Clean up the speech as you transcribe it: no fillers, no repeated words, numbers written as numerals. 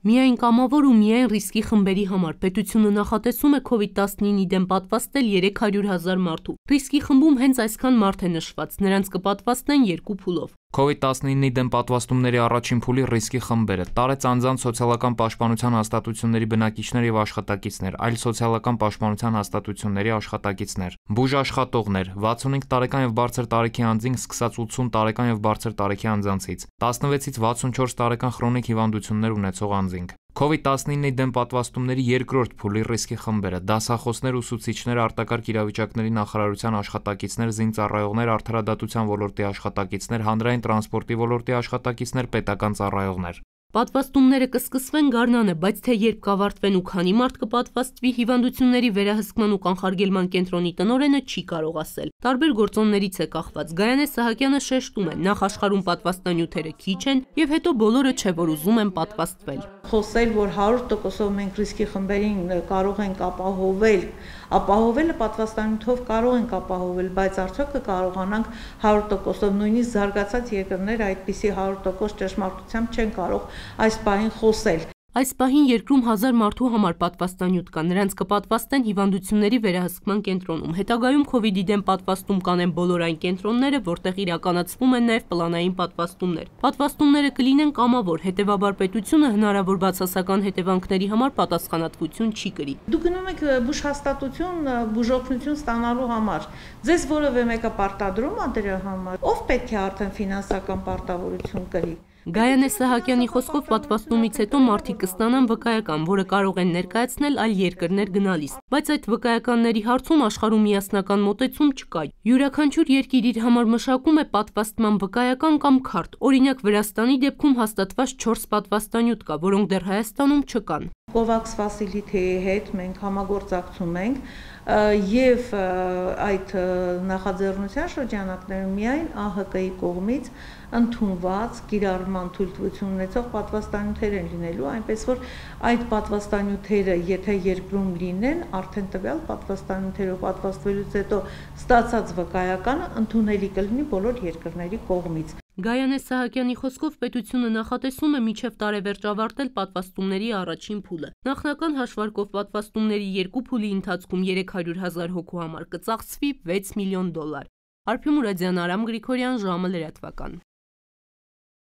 Միայն կամավոր ու միայն ռիսկի խմբերի համար պետությունը նախատեսում է COVID-19-ի դեմ պատվաստել 300,000 մարդու։ Ռիսկի խմբում հենց այսքան մարդ է նշված, նրանց կպատվաստեն 2 փուլով։ COVID-19-ի դեմ պատվաստումների առաջին փուլի ռիսկի խմբերը՝ տարեց անձանց սոցիալական պաշտպանության հաստատությունների բնակիչներ եւ աշխատակիցներ, այլ սոցիալական պաշտպանության հաստատությունների աշխատակիցներ, բուժաշխատողներ, 65 տարեկան եւ բարձր տարիքի անձինք սկսած 80 տարեկան եւ բարձր տարիքի անձանցից, 16-ից 64 տարեկան խրոնիկ հիվանդություններ ունեցող անձինք։ COVID-19-ի դեմ պատվաստումների երկրորդ փուլի ռիսկի խմբերը՝ դասախոսներ, ուսուցիչներ, արտակարգ իրավիճակների նախարարության աշխատակիցներ, զինծառայողներ, արդարադատության ոլորտի աշխատակիցներ, հանրային տրանսպորտի ոլորտի աշխատակիցներ, պետական ծառայողներ։ Պատվաստումները կսկսվեն գարնանը, բայց թե երբ կավարտվեն ու քանի մարդ կպատվաստվի, հիվանդությունների վերահսկման ու կանխարգելման կենտրոնի տնօրենը չի կարող ասել։ Տարբեր գործոններից է կախված։ Գայանե Սահակյանը շեշտում է, նախ աշխարհում պատվաստանյութերը քիչ են եւ հետո բոլորը չէ որ ուզում են պատվաստվել։ Խոսել, որ 100%-ով մենք ռիսկի խմբերին կարող ենք ապահովելը պատվաստանյութով կարող ենք ապահովել, բայց արդյոք կկարողանանք 100%-ով, նույնիսկ զարգացած երկրներ այդպիսի 100% ճշմարտությամբ չեն կարող այս պահին խոսել։ Այս պահին երկրում 1000 մարդու համար պատվաստանյութ կա, նրանց կպատվաստեն հիվանդությունների վերահսկման կենտրոնում։ Հետագայում COVID-ի դեմ պատվաստում կանեն բոլոր այն կենտրոնները, որտեղ իրականացվում են նաև պլանային պատվաստումներ։ Պատվաստումները կլինեն կամավոր, հետևաբար պետությունը հնարավոր բացասական հետևանքների համար պատասխանատվություն չի կրի։ Դուք գնում եք բուժհաստատություն, բուժօգնություն ստանալու համար։ Ձեզ որևէ մեկը պարտադրում է դրա համար։ Ով պետք է արդեն ֆինանսական պարտավորություն կրի։ Գայանե Սահակյանի խոսքով պատվաստումից հետո մարդիկ կստանան վկայական, որը կարող են ներկայացնել այլ երկրներ գնալիս, բայց այդ վկայականների հարցում աշխարհում միասնական մոտեցում չկա։ Յուրաքանչյուր երկիր իր համար մշակում է պատվաստման վկայական կամ քարտ։ Օրինակ Վրաստանի դեպքում հաստատված 4 պատվաստանյութ կա, որոնք դեռ Հայաստանում չկան։ COVAX facility-ի հետ մենք համագործակցում ենք եւ այդ նախաձեռնության շրջանակներում միայն ԱՀԿ-ի կողմից ընդունված կիրառման թույլտվություն ունեցող պատվաստանյութեր են լինելու, այնպես որ այդ պատվաստանյութերը, եթե երկրում լինեն, արդեն տվյալ պատվաստանյութերով պատվաստվելուց հետո ստացած վկայականը ընդունելի կլինի բոլոր երկրների կողմից։ Գայանե Սահակյանի խոսքով պետությունը նախատեսում է մինչև տարեվերջ ավարտել պատվաստումների առաջին փուլը։ Նախնական հաշվարկով պատվաստումների 2 փուլի ընթացքում 300,000 հոգու համար կծախսվի $6 միլիոն։ Արփի Մուրադյան, Արամ Գրիգորյան, ժամը լրատվական։